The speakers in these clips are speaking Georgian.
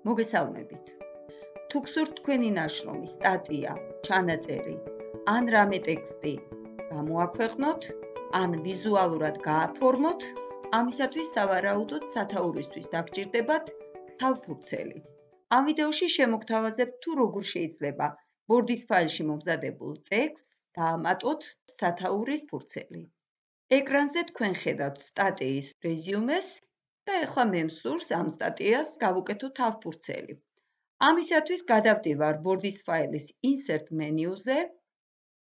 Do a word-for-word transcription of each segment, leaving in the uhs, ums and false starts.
მოგესალმებით. თუ გსურთ თქვენი ნაშრომი, სტატია, ჩანაწერი, ან რამე ტექსტი გამოაქვეყნოთ, ან ვიზუალურად გააფორმოთ, ამისათვის სავარაუდოდ სათაურისთვის დაგჭირდებათ თავფურცელი. ამ ვიდეოში შემოგთავაზებთ თუ როგორ შეიძლება Word-ის ფაილში მომზადებულ ტექსტს დაამატოთ სათაურის ფურცელი. ეკრანზე თქვენ ხედავთ სტატიის რეზიუმეს და ეხლა მე მსურს ამ სტატიას გავუკეთო თავფურცელი. ამისათვის გადავდივარ Word-ის ფაილის Insert მენიუზე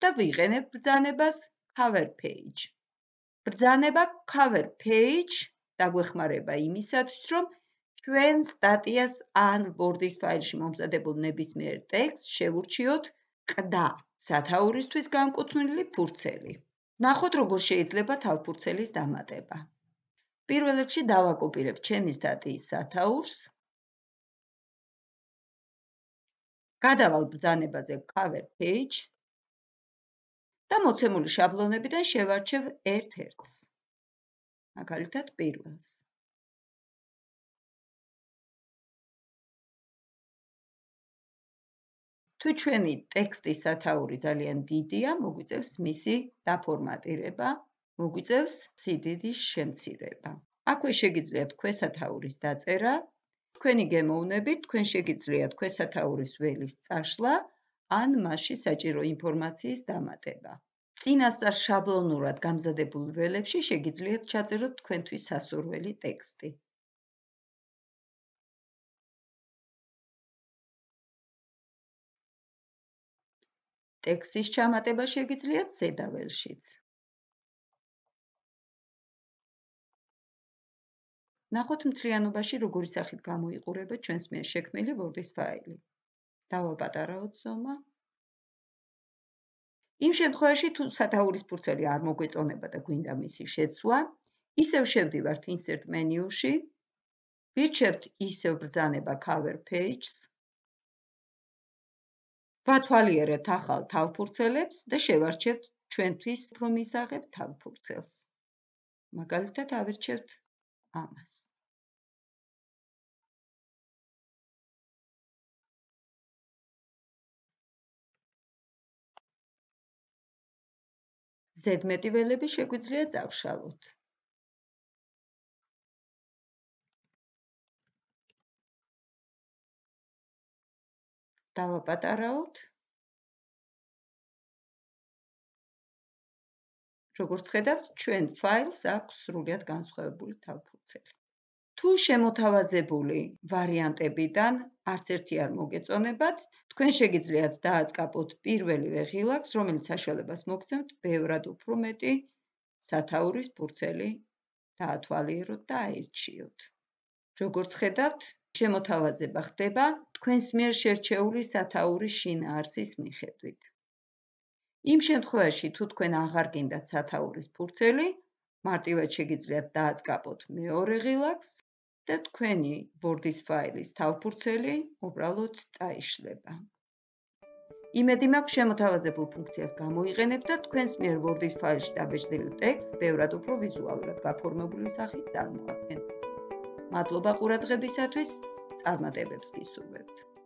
და ვიყენებ ბრძანებას Cover Page. ბრძანება Cover Page დაგვეხმარება იმისათვის, რომ ჩვენ სტატიას ან Word-ის ფაილში მომზადებულ ნებისმიერ ტექსტს შევურჩიოთ ყდა სათაურისთვის განკუთვნილი ფურცელი. ნახოთ, როგორ შეიძლება თავფურცელის დამატება. პირველ რიგში დავაკოპირებ ჩემი სტატიის სათაურს. გადავალ ბრძანებაზე Cover Page და მოცემული შაბლონებიდან შევარჩევ ერთ-ერთს. მაგალითად, პირველს. თუ ჩვენი ტექსტის სათაური ძალიან დიდია, მოგვიწევს მისი დაფორმატირება, მოგვიწევს სიდიდის შემცირება. აქვე შეგიძლიათ ქვესათაურის დაწერა. თქვენი გემოვნებით, თქვენ შეგიძლიათ ქვესათაურის ველის წაშლა, ან მასში საჭირო ინფორმაციის დამატება. წინასწარ შაბლონურად გამზადებულ ველებში შეგიძლიათ ჩაწეროთ თქვენთვის სასურველი ტექსტი. ტექსტის ჩამატება შეგიძლიათ ზედა ველშიც. ნახოთ მთლიანობაში როგორი სახით გამოიყურება ჩვენს მიერ შექმნილი Word-ის ფაილი. დავაპატარაოთ ზომა. იმ შემთხვევაში, თუ სათაურის ფურცელი არ მოგვეწონება და გვინდა მისი შეცვლა, ისევ შევდივართ Insert მენიუში, ვირჩევთ ისევ ბრძანება Cover Page-ს, ვათვალიერებთ ახალ თავფურცელებს და შევარჩევთ ჩვენთვის უფრო მისაღებ თავფურცელს. მაგალითად, ავირჩევთ ამას. ზედმეტი ველები შეგვიძლია წავშალოთ. დავაპატარაოთ. როგორც ხედავთ, ჩვენ ფაილს აქვს სრულიად განსხვავებული თავფურცელი. თუ შემოთავაზებული ვარიანტებიდან არც ერთი არ მოგეწონებათ, თქვენ შეგიძლიათ დააწყაპოთ პირველივე ღილაკს, რომელიც საშუალებას მოგცემთ ბევრად უფრო მეტი სათაურის ფურცელი დაათვალიეროთ და აირჩიოთ. როგორც ხედავთ, შემოთავაზება ხდება თქვენს მიერ შერჩეული სათაურის შინაარსის მიხედვით. იმ შემთხვევაში, თუ თქვენ აღარ გინდათ სათაურის ფურცელი, მარტივად შეგიძლიათ დააწყაპოთ მეორე ღილაკს და თქვენი Word-ის ფაილის თავფურცელი უბრალოდ წაიშლება. იმედი მაქვს, შემოთავაზებულ ფუნქციას გამოიყენებთ და თქვენს მიერ Word-ის ფაილში დაბეჭდილი ტექსტს ბევრად უფრო ვიზუალურად გაფორმებული სახით წარმოადგენთ. მადლობა ყურადღებისათვის, წარმატებებს გისურვებთ.